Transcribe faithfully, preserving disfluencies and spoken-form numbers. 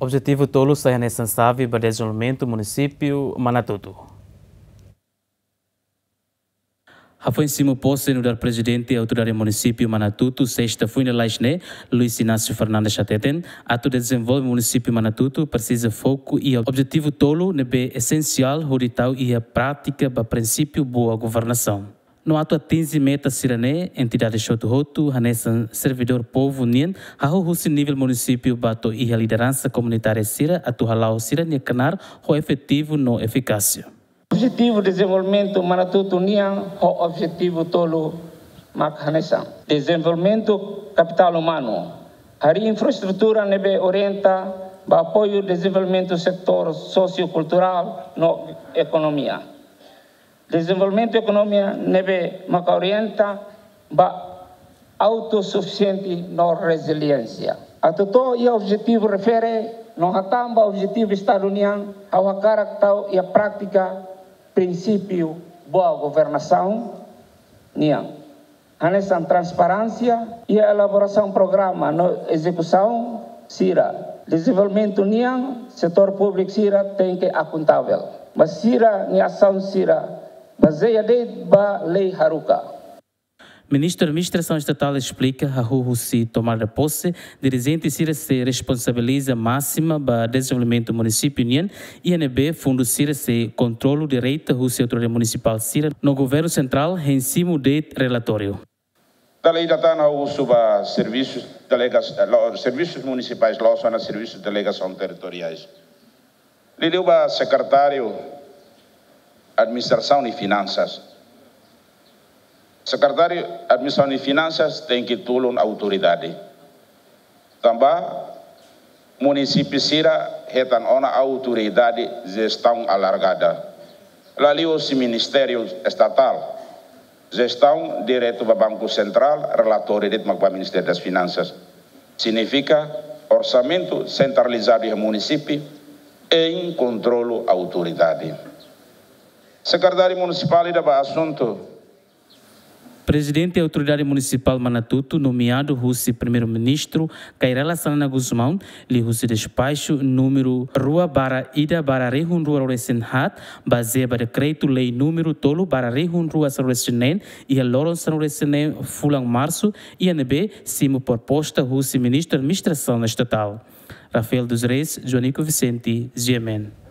Objetivu tolu sai hanesan xave ba dezenvolvimentu munisípiu Manatuto. Hafoin simu pose nu'udar Prezidente Autoridade Munisípiu Manatuto, sesta foin lalais ne'e, Luis Inácio Fernandes hateten, atu dezenvolve munisípiu Manatuto presiza foku iha objetivu tolu ne'ebé esensiál hodi tau iha prátika ba prinsípiu boa governasaun. No atu atinje meta sira-ne'e, entidades hotu-hotu, hanesan servidór povu nian, hahú husi nivel munisípiu ba to'o iha lideransa komunitária sira atu hala'o sira-nia knaar ho efetivu no efikásia. Objetivu dezenvolvimentu Manatuto nian ho objetivu tolu mak hanesan: dezenvolvimentu kapitál umanu, harii infraestrutura ne'ebé orienta ba apoiu dezenvolvimentu setór sosiokulturál no ekonomia. Dezenvolvimentu ekonomia ne'ebé maka orienta ba autosufisiente no reziliénsia. Atu to'o iha objetivu refere no hatán ba objetivu Estadu nian, ha'u hakarak tau iha prátika prinsípiu boa governasaun nian. Hanesan transparénsia iha elaborasaun programa no ezekusaun sira. Dezenvolvimentu nian, setór públiku sira tenke akontavel ba sira-nia asaun sira, bazeia de'it ba lei haruka. Ministru Administrasaun Estatál esplika, hahú husi tomada de pose, dirijente sira sei responsabiliza másimu ba dezenvolvimentu munisípiu nian, iha ne'ebé fundu sira sei kontrolu direta husi autoridade munisipál sira no governu sentrál hein simu de'it relatóriu. Dala ida tan ha'u husu ba servisus delegas, eh, lo-, servisus munisipais, la'ós ona servisus delegasaun territoriais. Liuliu ba sekretáriu administrasaun i finansas. Sekretáriu administrasaun i finansas tenke tulun autoridade. Tanba munisípiu sira hetan ona autoridade jestaun alargada. Liuliu husi Ministériu Estatál, jestaun diretu ba Banku Sentrál, relatóriu de'it mak ba Ministériu das Finansas. Signifika orsamentu sentralizadu iha munisípiu, hein kontrolu autoridade. Sekretáriu Munisipál ida ba asuntu. Prezidente Autoridade Munisipál Manatuto, nomeadu husi Primeiru-Ministru Kay Rala Xanana Gusmão, liuhusi despaxu númeru rua barra ida barra rihun rua ruanulu-resin-haat, bazeia ba dekretu-lei númeru tolu barra rihun rua sanulu-resin-neen, iha loron sanulu-resin-neen fulan Marsu, iha ne'ebé simu proposta husi Ministru Administrasaun Estatál. Rafael dos Reis, Joanico Vicente, G M N.